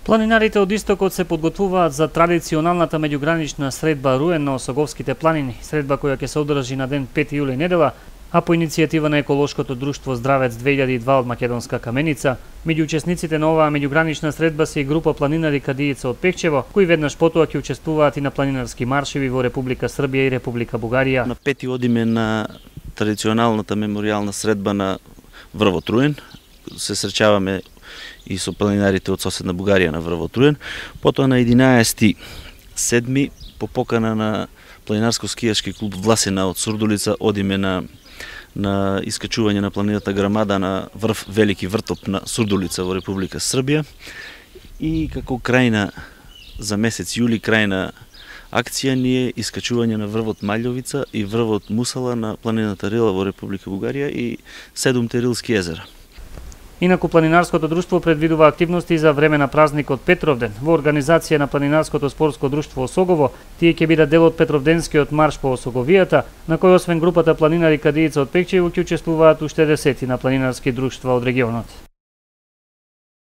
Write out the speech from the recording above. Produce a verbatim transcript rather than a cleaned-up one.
Планинарите од Истокот се подготвуваат за традиционалната меѓугранична средба Руен на Осоговските планини, средба која ќе се одржи на ден пети јули недела, а по иницијатива на еколошкото друштво Здравец две илјади и два од Македонска Каменица. Меѓу учесниците на оваа меѓугранична средба се и група планинари кадијица од Пекчево, кои веднаш потоа ќе учествуваат и на планинарски маршеви во Република Србија и Република Бугарија. На пети одиме на традиционалната меморијална средба на врвот Руен. Се среќаваме и со планинарите од соседна Бугарија на врвот Руен. Потоа на единаесети седми по покана на планинарско-скијашки клуб Власина од Сурдулица одиме на на искачување на планината Грамада на врв Велики Вртоп на Сурдулица во Република Србија. И како крајна за месец јули крајна акција ни е искачување на врвот Маљовица и врвот Мусала на планината Рила во Република Бугарија и седумте рилски езера. Инаку планинарското друштво предвидува активности за време на празникот Петровден. Во организација на планинарското спортско друштво Осогово, тие ќе бидат дел од Петровденскиот марш по Осоговијата, на кој освен групата планинари кадијица од Пекчево ќе учествуваат уште десетина планинарски друштва од регионот.